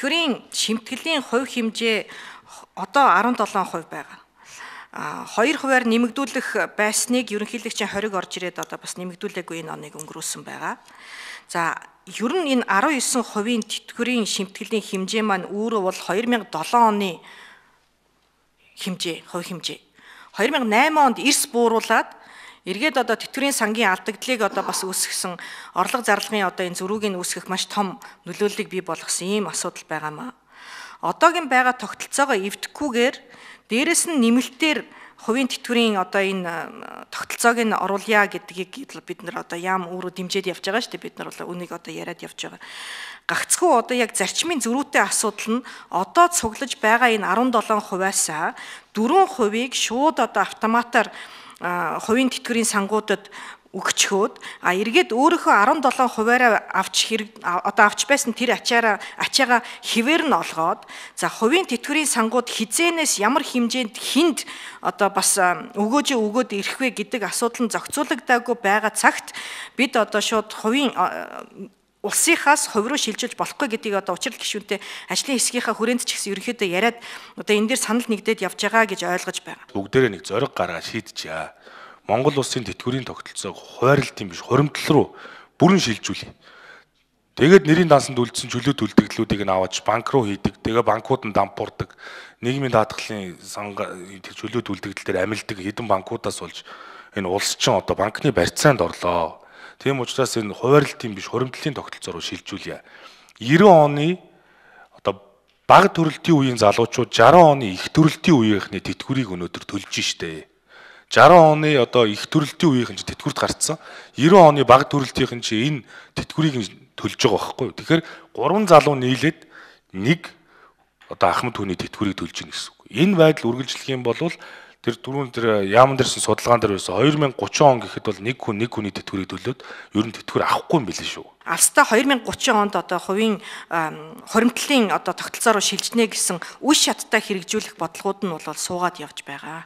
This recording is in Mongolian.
тэтгэврийн шимтгэлийн хувь хэмжээ одоо 17% байгаа. 2%-аар нэмэгдүүлэх байсныг ерөнхийлөгчийн хориг орж ирээд одоо бас нэмэгдүүлээгүй энэ оныг өнгөрөөсөн байгаа. За ер нь энэ 19% тэтгэврийн шимтгэлийн хэмжээ маань өөрөө бол 2007 оны хэмжээ, хувь хэмжээ. 2008 онд эрс бууруулад эргээд одоо тэтгэврийн сангийн алдагдлыг одоо бас үүсгэсэн орлого зарлагын одоо энэ зөрүүг нь үүсгэх маш том нөлөөллийг бий болгосон ийм асуудал байгаамаа. Одоогийн байгаа тогтолцоогоо эвдэхгүйгээр дээрэс нь нэмэлтээр хувийн тэтгэврийн одоо энэ тогтолцоог нь оруулъя гэдгийг бид нар одоо яам өөрөө дэмжиж явж байгаа шүү дээ. Бид нар бол үнийг одоо яриад явж байгаа. Гагцхүү одоо яг зарчмын зөрүүтэй асуудал нь одоо цуглаж байгаа энэ 17%-аас 4%-ийг шууд одоо автоматар хувийн тэтгэврийн сангуудад өгчхөөд эргээд өөрийнхөө 17%-аараа авч байсан тэр ачаагаа хэвээр нь олгоод за хувийн тэтгэврийн сангууд хизээнээс ямар хэмжээнд хүнд одоо бас өгөөд ирэх вэ гэдэг асуудал нь зохицуулагдаагүй байгаа цагт бид одоо шууд хувийн улсынхаас хувь руу шилжүүлж болохгүй гэдгийг одоо учрал гишүүнтэй ажлын хэсгийнхаа хүрээнд ч гэсэн ерөнхийдөө яриад одоо энэ дээр санал нэгдээд явж байгаа гэж ойлгож байгаа. Бүгдээрээ нэг зориг гаргаад шийдчихье. Монгол улсын тэтгэврийн тогтолцоог хуваарлтын биш хуримтлал руу бүрэн шилжүүлье. Тэгээд нэрийн дансанд үлдсэн чөлөө төлтөглөлүүдийг нь аваад банк руу хийдэг. Тэгээ банкуд нь дампуурдаг. Нийгмийн даатгалын тэр чөлөө төлтөглөл дээр амилдаг хэдэн банкудаас болж энэ улс чинь одоо банкны барьцаанд орлоо. Тийм учраас энэ хуваарлтын биш хуримтлалын тогтолцоо руу шилжүүлье. 90 оны одоо бага төрөлтийн үеийн залуучууд 60 оны их төрөлтийн үеийнхний тэтгэврийг өнөөдөр төлж штэ. 60 оны одоо их төрөлтийн үеийнхэн ч тэтгэврт гарцсан. 90 оны бага төрөлтийнхэн ч энэ тэтгэврийг төлж байгаа байхгүй юу. Тэгэхээр 3 залуу нийлээд нэг одоо ахмад хүний тэтгэврийг төлж ийн гэсэн үг. Энэ байдал үргэлжлэх юм бол тэр дөрөв тэр яамн дээрсэн судалгаан дээр байсан 2030 он гэхэд бол нэг хүний тэтгэврийг төлөөд ер нь тэтгэвэр авахгүй юм билээ шүү. Алстаа 2030 онд одоо хувийн хуримтлалын одоо тогтолцоо руу шилжнэ гэсэн үе шаттай хэрэгжүүлэх бодлогууд нь бол суугаад явж байгаа.